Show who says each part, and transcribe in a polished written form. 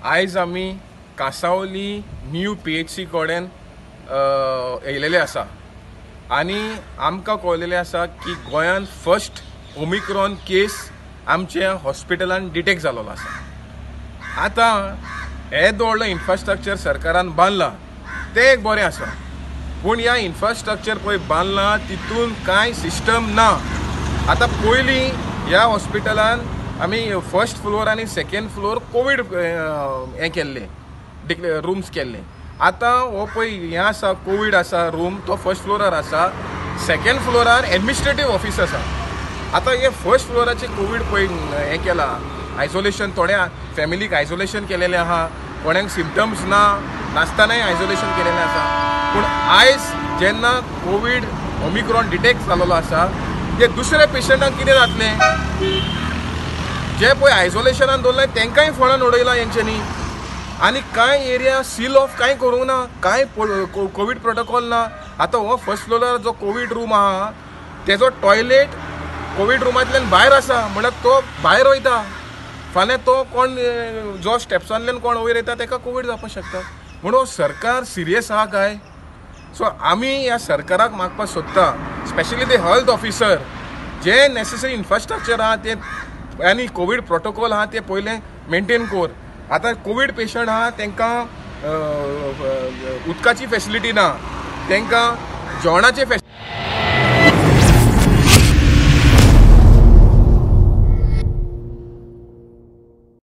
Speaker 1: आयज आमी Cansaulim new PHC कडेन येयलेले आसा आनी आमकां कळलेलें आसा की गोंयान फर्स्ट ओमिक्रॉन केस आमच्या हॉस्पिटलान डिटेक्ट जालोलो आसा. आतां हें व्हडलो इन्फ्रास्ट्रक्चर सरकारान बांदलां तें एक बरें आसा, पूण ह्या इन्फ्रास्ट्रक्चर पळय बांदलां तितून कांय सिस्टम ना. आतां पयलीं ह्या हॉस्पिटलान आमी फर्स्ट फ्लोर आनी सेकेंड फ्लोर कोवीड हें केल्लें, रुम्स केल्ले. आतां हो पळय हें आसा, कोवीड आसा रूम, तो फर्स्ट फ्लोरार आसा, सेकेंड फ्लोरार एडमिनिस्ट्रेटीव ऑफीस आसा. आतां हे फर्स्ट फ्लोराचे कोवीड पळय हें केलां आयसोलेशन, थोड्या फॅमिलीक आयसोलेशन केलेलें आहा, कोणाक सिमटम्स ना नासतनाय आयसोलेशन केलेलें आसा. पूण आयज जेन्ना कोवीड ओमिक्रॉन डिटेक्ट जालोलो आसा ते दुसऱ्या पेशंटांक कितें जातलें? जे पळय आयसोलेशनान दवरलां तेंकांय फोंडान उडयलां हेंच्यांनी. आनी कांय एरिया सील ऑफ कांय करूंक ना, कांय कोवीड प्रोटोकॉल ना. आतां हो फर्स्ट फ्लोरार जो कोवीड रूम आहा तेजो टॉयलेट कोवीड रुमांतल्यान भायर आसा, म्हणल्यार तो भायर वयता. फाल्यां तो कोण जो स्टेप्सांतल्यान कोण वयर येता तेका कोवीड जावपाक शकता. म्हणून सरकार सिरियस आहा काय? सो आमी ह्या सरकाराक मागपाक सोदता, स्पेशली ते हेल्थ ऑफिसर जे नेसेसरी इन्फ्रास्ट्रक्चर आहा ते आनी कोवीड प्रोटोकॉल आहा ते पयलें मेंटेन कर. आतां कोवीड पेशंट आहा तांकां उदकाची फेसिलिटी ना, तांकां जेवणाची